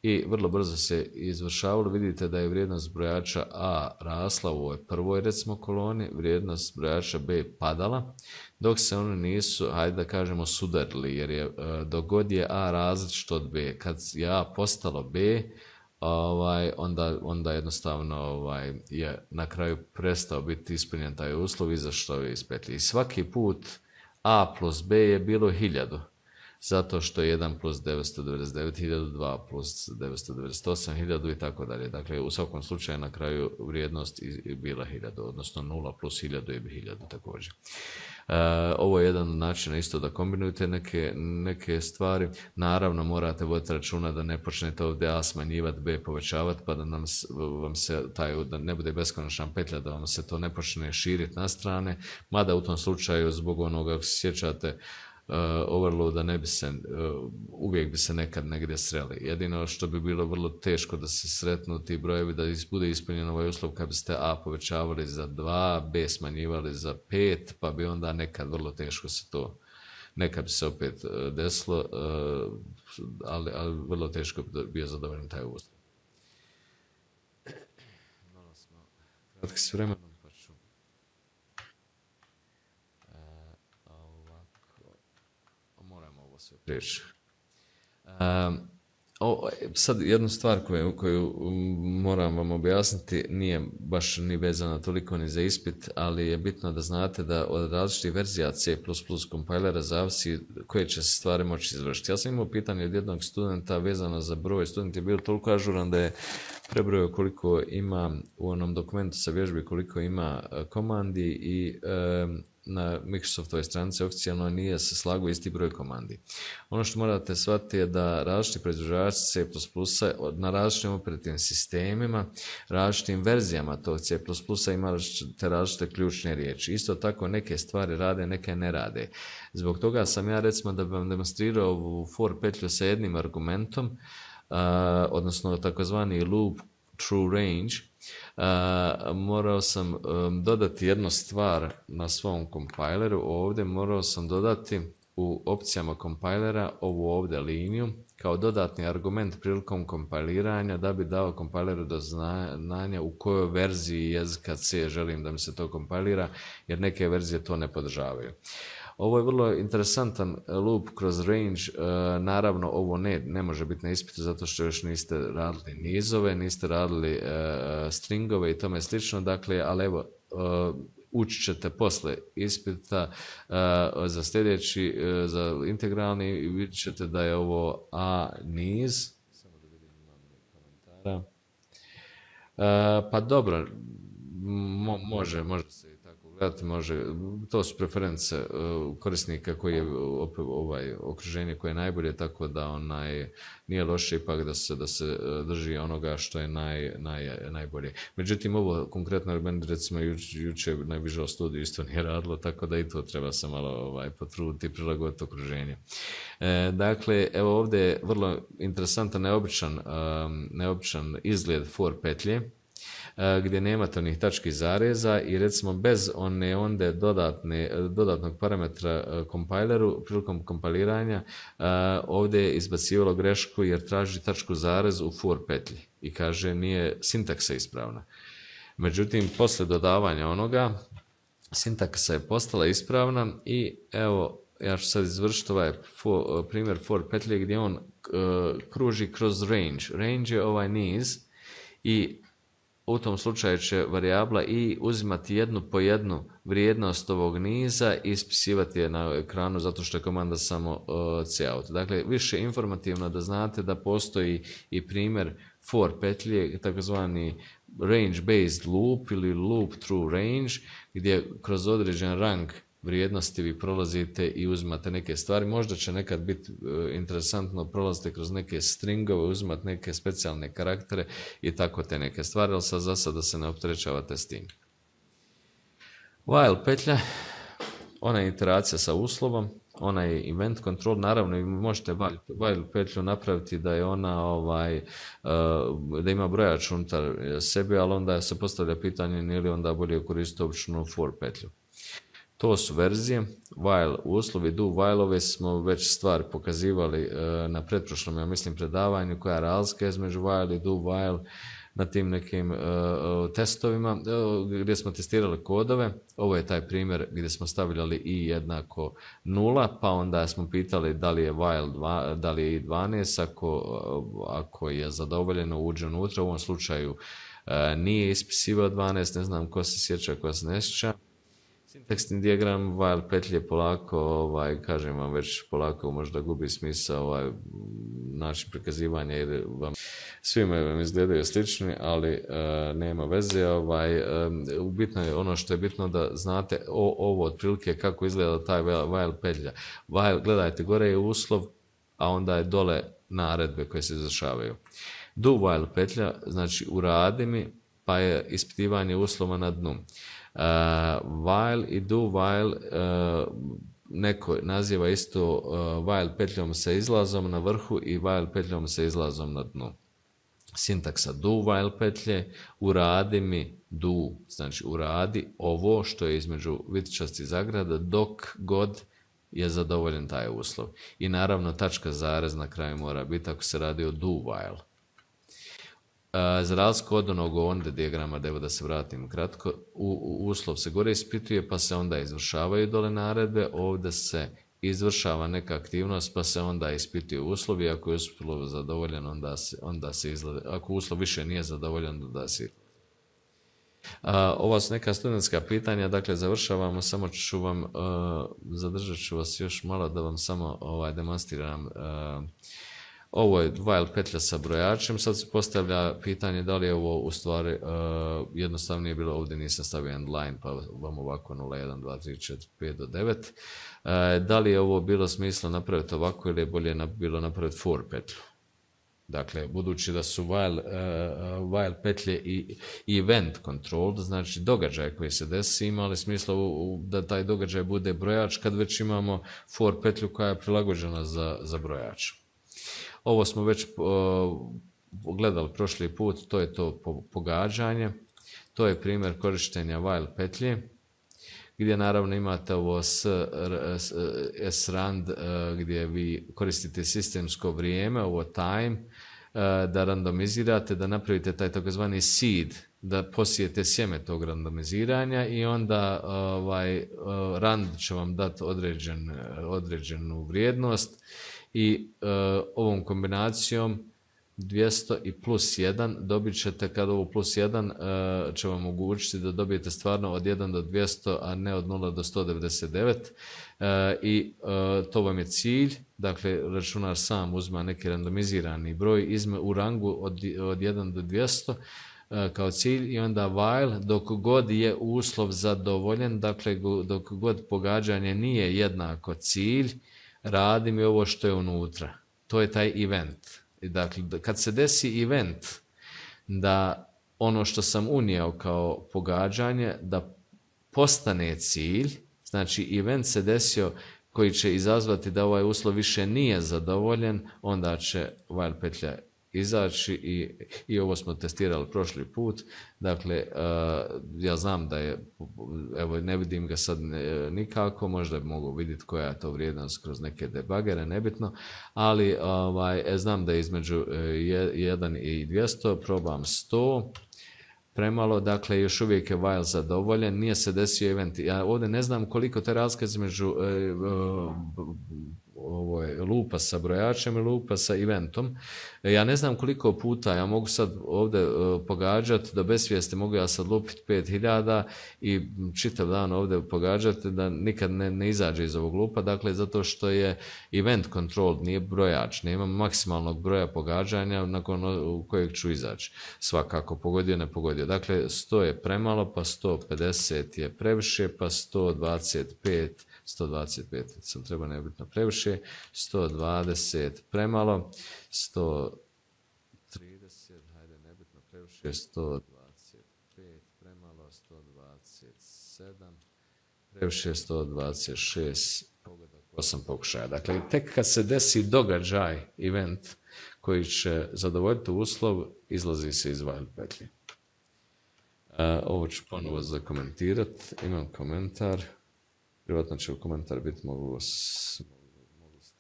I vrlo brzo se izvršavalo. Vidite da je vrijednost brojača a rasla u ovoj prvoj recimo koloni, vrijednost brojača b padala, dok se oni nisu, hajde da kažemo, sudarili, jer je dok god je a različit od b. Kad je a postalo b, onda jednostavno je na kraju prestao biti ispunjen taj uslov i zašto je iz petlji. I svaki put a plus b je bilo 1000. Zato što je 1 plus 999.000, 2 plus 998.000 i tako dalje. Dakle, u svakom slučaju na kraju vrijednost je bila 1000, odnosno 0 plus 1000 je 1000 također. Ovo je jedan način isto da kombinujete neke stvari. Naravno, morate voditi računa da ne počnete ovdje a smanjivati, b povećavati, pa da vam se da ne bude beskonačna petlja, da vam se to ne počne širiti na strane. Mada u tom slučaju, zbog onoga, ako se sjećate, overloada uvijek bi se nekad negdje sreli. Jedino što bi bilo vrlo teško da se sretnu ti brojevi, da bude ispunjen ovaj uslov kad biste a povećavali za 2, b smanjivali za 5, pa bi onda nekad vrlo teško se to, nekad bi se opet desilo, ali vrlo teško bi bio zadovoljen taj uslov. Malo smo kratki s vremenom. Riječ. Sad jednu stvar koju moram vam objasniti, nije baš ni vezana toliko ni za ispit, ali je bitno da znate da od različitih verzija C++ kompajlera zavisi koje će se stvari moći izvršiti. Ja sam imao pitanje od jednog studenta vezano za broj. Student je bio toliko ažuran da je prebrojao koliko ima u onom dokumentu sa vježbi, koliko ima komandi i na Microsoftovoj stranici oficijalno nije se slagao isti broj komandi. Ono što morate shvatiti je da različiti proizvođači C++ na različitim operativnim sistemima, različitim verzijama tog C++ ima te različite ključne riječi. Isto tako neke stvari rade, neke ne rade. Zbog toga sam ja recimo da bi vam demonstrirao ovu for petlju sa jednim argumentom, odnosno takozvani loop true range, morao sam dodati jednu stvar na svom kompajleru. Ovdje morao sam dodati u opcijama kompajlera ovu ovdje liniju kao dodatni argument prilikom kompajliranja, da bi dao kompajleru do znanja u kojoj verziji jezika C želim da mi se to kompajlira, jer neke verzije to ne podržavaju. Ovo je vrlo interesantan loop kroz range. Naravno, ovo ne može biti na ispitu zato što još niste radili nizove, niste radili stringove i tome slično. Dakle, ali evo, učit ćete posle ispita za sljedeći, za integralni, i vidjet ćete da je ovo a niz. Samo da vidim, imam komentara. Pa dobro, može se i tako gledati, može. To su preference korisnika koji je okruženje koje je najbolje, tako da nije loše ipak da se drži onoga što je najbolje. Međutim, ovo konkretno meni recimo jučer na Visual Studio isto nije radilo, tako da i to treba se malo potruditi i prilagoditi okruženje. Dakle, evo ovdje je vrlo interesantan, neobičan izgled for petlje, gdje nemate onih tački zareza i recimo bez onda dodatnog parametra kompajleru prilikom kompiliranja ovdje je izbacivalo grešku jer traži tačku zarez u for petlji i kaže nije sintaksa ispravna. Međutim, poslije dodavanja onoga sintaksa je postala ispravna i evo ja ću sad izvršiti ovaj primjer for petlje gdje on kruži kroz range. Range je ovaj niz i u tom slučaju će varijabla i uzimati jednu po jednu vrijednost ovog niza i ispisivati je na ekranu zato što je komanda samo cout. Dakle, više informativno da znate da postoji i primjer for petlje, takozvani range based loop ili loop through range, gdje kroz određen rang vrijednosti vi prolazite i uzimate neke stvari. Možda će nekad biti interesantno prolaziti kroz neke stringove, uzimati neke specijalne karaktere i tako te neke stvari, ali sad za sada se ne opterećavate s tim. While petlja, ona je iteracija sa uslovom, ona je event control, naravno i možete while petlju napraviti da je ona da ima brojač unutar sebe, ali onda se postavlja pitanje nije li onda bolje koristiti običnu for petlju. To su verzije. While uslovi, do while-ove smo već stvari pokazivali na pretprošlom, ja mislim, predavanju, koja je razlika između while i do while na tim nekim testovima gdje smo testirali kodove. Ovo je taj primjer gdje smo stavljali i jednako 0, pa onda smo pitali da li je while da li je i 12, ako je zadovoljeno uđe unutra. U ovom slučaju nije ispisivao 12, ne znam ko se sjeća, ko se ne sjeća. Sintaksni dijagram while petlje polako, kažem vam već polako možda gubi smisao način prikazivanja jer vam svima vam izgledaju slični, ali nema veze. Bitno je ono što je bitno da znate ovo otprilike kako izgleda taj while petlja. While, gledajte, gore je uslov, a onda je dole naredbe koje se izvršavaju. Do while petlja, znači uradi mi, pa je ispitivanje uslova na dnu. While i do while neko naziva isto while petljom sa izlazom na vrhu i while petljom sa izlazom na dnu. Sintaksa do while petlje, uradi mi do, znači uradi ovo što je između vitičastih zagrada dok god je zadovoljen taj uslov. I naravno tačka zarez na kraju mora biti ako se radi o do while. Za razliku od onog onda dijagrama, da se vratim kratko, uslov se gore ispituje pa se onda izvršavaju dole naredbe, ovdje se izvršava neka aktivnost pa se onda ispituje uslov i ako je uslov zadovoljen onda se izgleda, ako uslov više nije zadovoljen onda se izgleda. Ova su neka studentska pitanja, dakle završavamo, samo ću vam, zadržat ću vas još malo da vam samo demonstriram. Ovo je while petlja sa brojačem, sad se postavlja pitanje da li je ovo u stvari jednostavnije bilo, ovdje nisam stavio endline pa vam ovako 0, 1, 2, 3, 4, 5 do 9. Da li je ovo bilo smisla napraviti ovako ili je bolje bilo napraviti for petlju? Dakle, budući da su while petlje i event control, znači događaj koji se desi, imali smisla da taj događaj bude brojač kad već imamo for petlju koja je prilagođena za brojač. Ovo smo već gledali prošli put, to je to pogađanje. To je primjer korištenja while petlje, gdje naravno imate ovo srand gdje vi koristite sistemsko vrijeme, ovo time, da randomizirate, da napravite taj takozvani seed, da posijete sjeme tog randomiziranja i onda rand će vam dati određenu vrijednost. I ovom kombinacijom 200 i plus 1 dobit ćete, kad ovo plus 1 će vam omogućiti da dobijete stvarno od 1 do 200, a ne od 0 do 199. I to vam je cilj, dakle računar sam uzma neki randomizirani broj u rangu od 1 do 200 kao cilj i onda while dok god je uslov zadovoljen, dakle dok god pogađanje nije jednako cilj, radi mi ovo što je unutra. To je taj event. Dakle, kad se desi event da ono što sam unio kao pogađanje da postane cilj, znači event se desio koji će izazvati da ovaj uslov više nije zadovoljen, onda će while petlja izaći i ovo smo testirali prošli put. Dakle, ja znam da je, evo ne vidim ga sad nikako, možda bi mogu vidjeti koja je to vrijednost kroz neke debugere, nebitno, ali znam da je između 1 i 200, probam 100, premalo, dakle još uvijek je while zadovoljen, nije se desio event. Ja ovdje ne znam koliko te razlika između lupa sa brojačem i lupa sa eventom. Ja ne znam koliko puta, ja mogu sad ovdje pogađati, do besvijesti mogu ja sad lupiti 5000 i čitav dan ovdje pogađati da nikad ne izađe iz ovog lupa, dakle zato što je event control, nije brojač, nema maksimalnog broja pogađanja nakon kojeg ću izaći. Svakako, pogodio, ne pogodio. Dakle, 100 je premalo, pa 150 je previše, pa 125 sam treba nebitno previše, 120 premalo, 130, hajde nebitno previše, 125 premalo, 127 previše, 126 pogodak, 8 pokušaja. Dakle, tek kad se desi događaj, event, koji će zadovoljiti uslov, izlazi se iz while petlje. Ovo ću ponovo zakomentirati, imam komentar. Privatno će u komentar biti mogu ste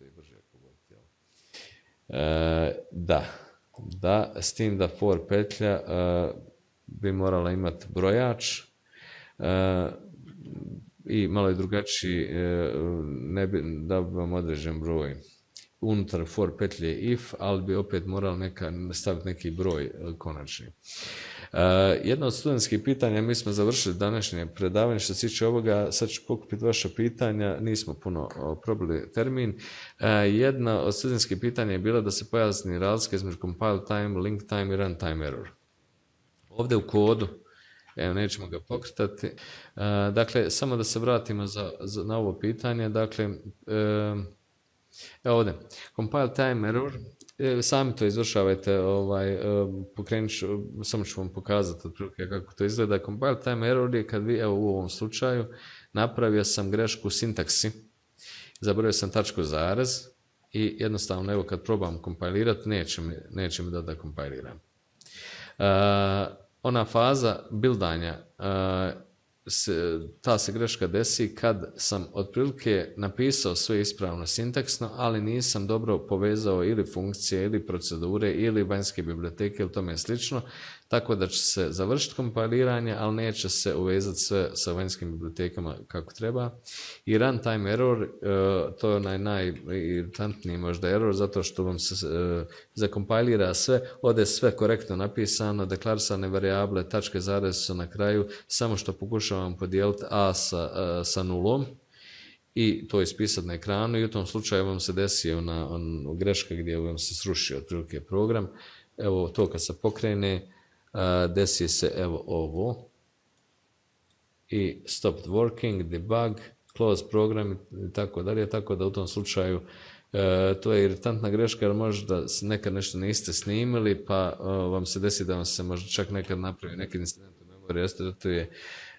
i brže pogoditi. Da, s tim da for petlja bi morala imati brojač i malo je drugačiji, da bi vam određen broj. Unutar for petlje if, ali bi opet morali staviti neki broj konačni. Jedno od studentskih pitanja, mi smo završili današnje predavanje što se tiče ovoga, sad ću pokupiti vaša pitanja, nismo puno probili termin. Jedno od studentskih pitanja je bilo da se pojasni razlika između compile time, link time i runtime error. Ovdje u kodu, evo nećemo ga pokretati, dakle samo da se vratimo na ovo pitanje, dakle evo ovdje, compile time error, sami to izvršavajte, pokrenut ću, samo ću vam pokazati otprilike kako to izgleda. Compile time error je kad vi, evo u ovom slučaju, napravio sam grešku u sintaksi, zaboravio sam tačku zarez i jednostavno evo kad probam kompilirati neće mi da kompiliram. Ona faza bildanja, ta se greška desi kad sam otprilike napisao sve ispravno sintaksno, ali nisam dobro povezao ili funkcije, ili procedure, ili vanjske biblioteke ili tome slično, tako da će se završiti kompiliranje, ali neće se uvezati sve sa vanjskim bibliotekama kako treba. I runtime error, to je onaj najiritantniji možda error, zato što vam se zakompilira sve, ovdje sve korektno napisano, deklarisane varijable, tačke zarez su na kraju, samo što pokušavam podijeliti a sa nulom i to ispisati na ekranu i u tom slučaju vam se desi greška gdje vam se sruši otprilike program. Evo to kad se pokrene, desi se evo ovo i stopped working, debug, close program i tako dalje, tako da u tom slučaju to je iritantna greška jer možda nekad nešto niste snimili pa vam se desi da vam se možda čak nekad napravi neki incident u memoriji, restartuje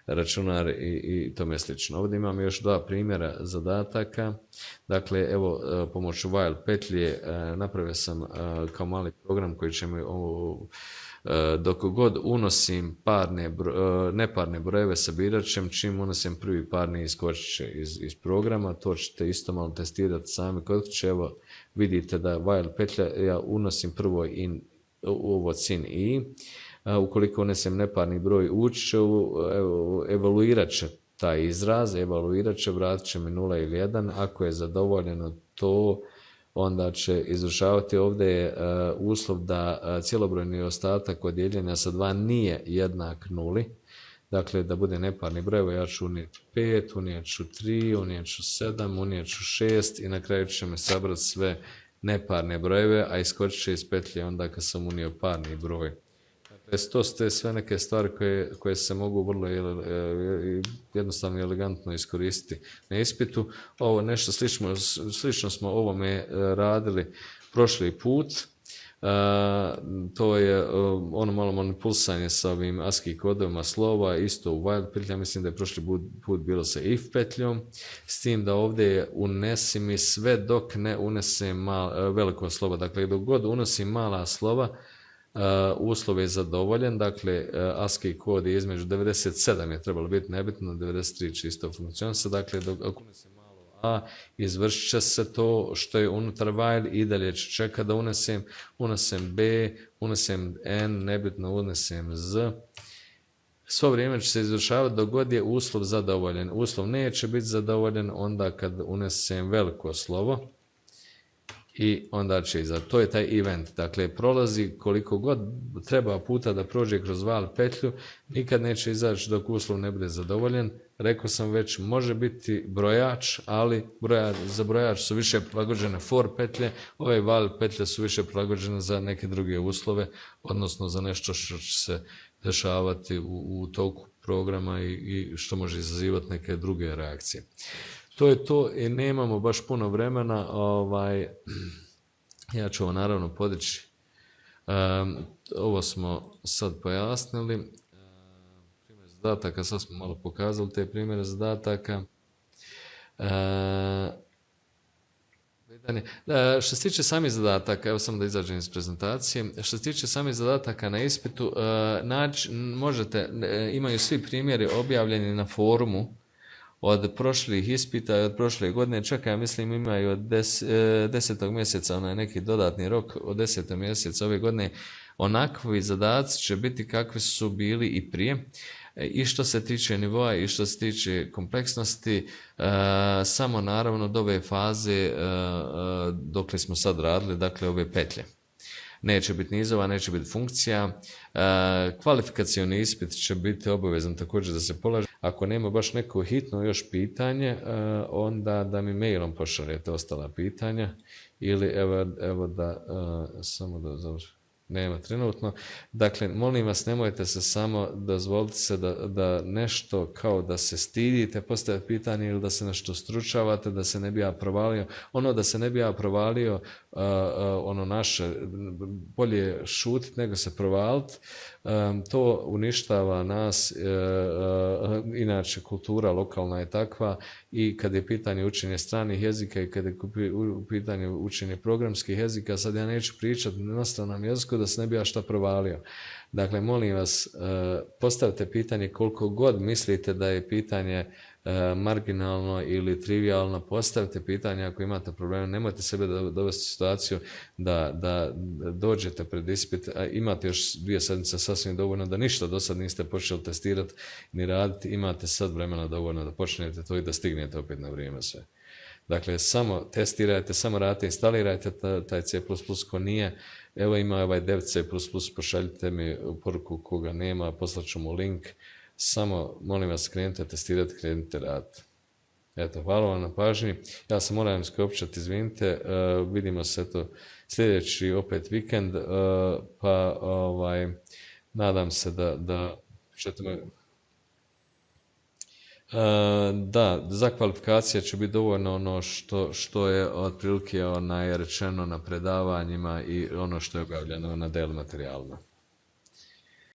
računar i tome slično. Ovdje imam još dva primjera zadataka. Dakle, evo, pomoću while petlje napravio sam kao mali program koji će mi dok god unosim neparne brojeve sabirat ćem, čim unosim prvi parni iskočit će iz programa, to ćete isto malo testirati sami kod kuće. Evo vidite da while petlja, ja unosim prvo ovo sin i, ukoliko unesem neparni broj ući će, evaluirat će taj izraz, evaluirat će, vratit će mi 0 ili 1, ako je zadovoljeno to, onda će izvršavati. Ovdje je uslov da cijelobrojni ostatak od dijeljenja sa 2 nije jednak 0, dakle da bude neparni broj, ja ću unijeti 5, unijet ću 3, unijet ću 7, unijet ću 6 i na kraju će me sabrati sve neparne brojeve, a iskočit će iz petlje onda kad sam unio parni broj. To su sve neke stvari koje se mogu vrlo jednostavno i elegantno iskoristiti na ispitu. Ovo nešto slično smo ovome radili prošli put. To je ono malo manipulisanje sa ovim ASCII kodovima slova, isto u while petlja, mislim da je prošli put bilo sa if petljom, s tim da ovdje unesi mi sve dok ne unesem veliko slovo. Dakle, dok god unosim mala slova, uslov je zadovoljen, dakle ASCII kod je između 97 je trebalo biti nebitno, 93 čisto funkcionisa, dakle ako unesem malo a, izvršit će se to što je unutar while i dalje će čekati da unesem b, unesem n, nebitno unesem z svo vrijeme će se izvršavati dok god je uslov zadovoljen. Uslov neće biti zadovoljen onda kad unesem veliko slovo i onda će to je taj event. Dakle, prolazi koliko god treba puta da prođe kroz val petlju, nikad neće izaći dok uslov ne bude zadovoljen. Rekao sam već, može biti brojač, ali za brojač su više prilagođene for petlje, ove val petlje su više prilagođene za neke druge uslove, odnosno za nešto što će se dešavati u toku programa i što može izazivati neke druge reakcije. To je to i nemamo baš puno vremena. Ja ću ovo naravno podići. Ovo smo sad pojasnili. Primjer zadataka, sad smo malo pokazali te primjere zadataka. Što se tiče samih zadataka, evo samo da izađem iz prezentacije, što se tiče samih zadataka na ispitu, imaju svi primjeri objavljeni na forumu od prošlih ispita i od prošle godine, čak ja mislim imaju od 10. mjeseca, onaj neki dodatni rok od 10. mjeseca ove godine, onakvi zadaci će biti kakvi su bili i prije. I što se tiče nivoa i što se tiče kompleksnosti, samo naravno do ove faze dokle smo sad radili, dakle ove petlje. Neće biti nizova, neće biti funkcija. Kvalifikacioni ispit će biti obavezan također da se polaže. Ako nema baš neko hitno još pitanje, onda da mi mailom pošaljete ostala pitanja ili evo da samo da završim. Nema trenutno. Dakle, molim vas, nemojte se samo, dozvolite se da nešto kao da se stidite postaviti pitanje ili da se nešto stručavate, da se ne bi ja provalio. Ono da se ne bi ja provalio, ono naše, bolje šutiti nego se provaliti. To uništava nas, inače kultura lokalna je takva i kad je pitanje učenja stranih jezika i kad je pitanje učenja programskih jezika, sad ja neću pričati na stranom jeziku da se ne bi ja šta provalio. Dakle, molim vas, postavite pitanje koliko god mislite da je pitanje marginalno ili trivialno, postavite pitanje ako imate probleme, nemojte sebe dovesti u situaciju da dođete pred ispit, a imate još 2 sedmice sasvim dovoljno da ništa do sad niste počeli testirati ni raditi, imate sad vremena dovoljno da počnete to i da stignete opet na vrijeme sve. Dakle, samo testirajte, samo radite, instalirajte taj C++ ko nije. Evo ima ovaj dev C++, pošaljite mi poruku koga nema, poslaću mu link. Samo, molim vas, krenite testirati, krenite raditi. Eto, hvala vam na pažnji. Ja se moram skopčati, izvinite. Vidimo se sljedeći opet vikend, pa nadam se da ćete me... Da, za kvalifikacije će biti dovoljno ono što je otprilike rečeno na predavanjima i ono što je objavljeno na del materijalima.